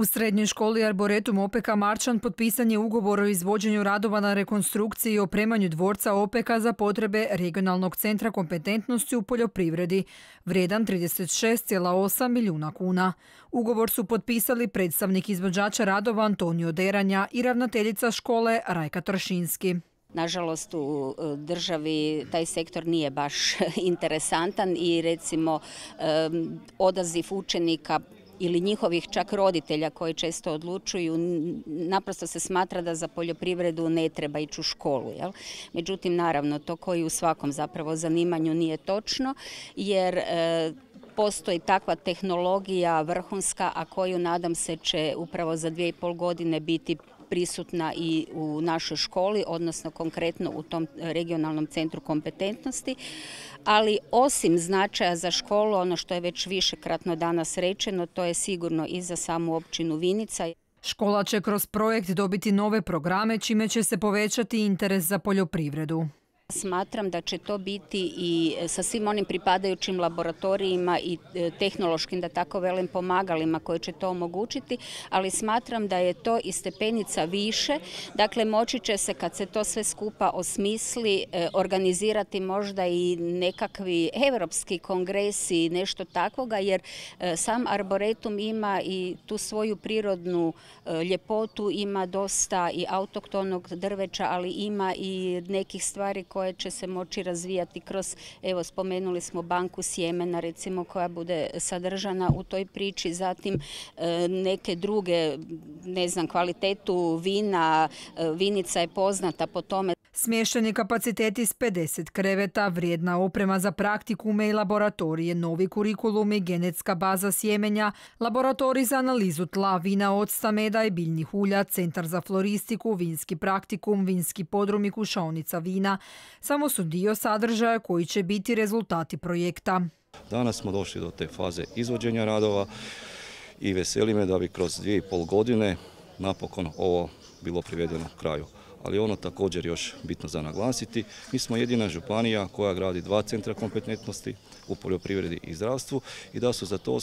U srednjoj školi Arboretum Opeka Marčan potpisan je ugovor o izvođenju radova na rekonstrukciji i opremanju dvorca Opeka za potrebe regionalnog centra kompetentnosti u poljoprivredi, vrijedan 36,8 milijuna kuna. Ugovor su potpisali predstavnik izvođača radova Antonio Deranja i ravnateljica škole Rajka Tršinski. Nažalost, u državi taj sektor nije baš interesantan i recimo odaziv učenika ili njihovih čak roditelja koji često odlučuju, naprosto se smatra da za poljoprivredu ne treba ići u školu. Jel? Međutim, naravno, to koji u svakom zapravo zanimanju nije točno, jer postoji takva tehnologija vrhunska, a koju nadam se će upravo za 2,5 godine biti prisutna i u našoj školi, odnosno konkretno u tom regionalnom centru kompetentnosti. Ali osim značaja za školu, ono što je već višekratno danas rečeno, to je sigurno i za samu općinu Vinica. Škola će kroz projekt dobiti nove programe, čime će se povećati interes za poljoprivredu. Smatram da će to biti i sa svim onim pripadajućim laboratorijima i tehnološkim, da tako velim, pomagalima koje će to omogućiti, ali smatram da je to i stepenica više. Dakle, moći će se, kad se to sve skupa osmisli, organizirati možda i nekakvi europski kongresi, nešto takvoga, jer sam Arboretum ima i tu svoju prirodnu ljepotu, ima dosta i autohtonog drveća, ali ima i nekih stvari koje će se moći razvijati kroz, evo spomenuli smo banku sjemena recimo koja bude sadržana u toj priči, zatim neke druge, ne znam, kvalitetu vina, Vinica je poznata po tome. Smješteni kapaciteti s 50 kreveta, vrijedna oprema za praktikume i laboratorije, novi kurikulum i genetska baza sjemenja, laboratorij za analizu tla, vina, octa, meda i biljnih ulja, centar za floristiku, vinski praktikum, vinski podrum i kušaonica vina, samo su dio sadržaja koji će biti rezultati projekta. Danas smo došli do te faze izvođenja radova i veseli me da bi kroz 2,5 godine napokon ovo bilo privedeno kraju. Ali ono također još bitno za naglasiti, mi smo jedina županija koja gradi 2 centra kompetentnosti u poljoprivredi i zdravstvu i da su za to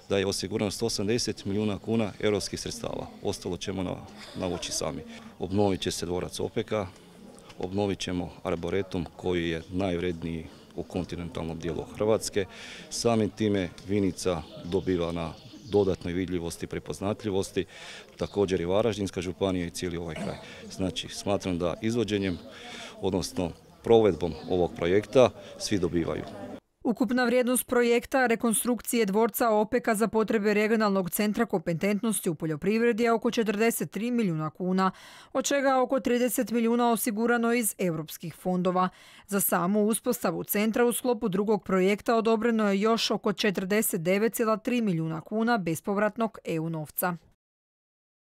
da je osigurano 180 milijuna kuna europskih sredstava. Ostalo ćemo navući sami. Obnovit će se dvorac Opeka, obnovit ćemo Arboretum koji je najvredniji u kontinentalnom dijelu Hrvatske. Samim time Vinica dobiva na dodatnoj vidljivosti i prepoznatljivosti, također i Varaždinska županija i cijeli ovaj kraj. Znači, smatram da izvođenjem, odnosno provedbom ovog projekta, svi dobivaju. Ukupna vrijednost projekta rekonstrukcije dvorca Opeka za potrebe regionalnog centra kompetentnosti u poljoprivredi je oko 43 milijuna kuna, od čega oko 30 milijuna osigurano iz europskih fondova. Za samu uspostavu centra u sklopu drugog projekta odobreno je još oko 49,3 milijuna kuna bespovratnog EU novca.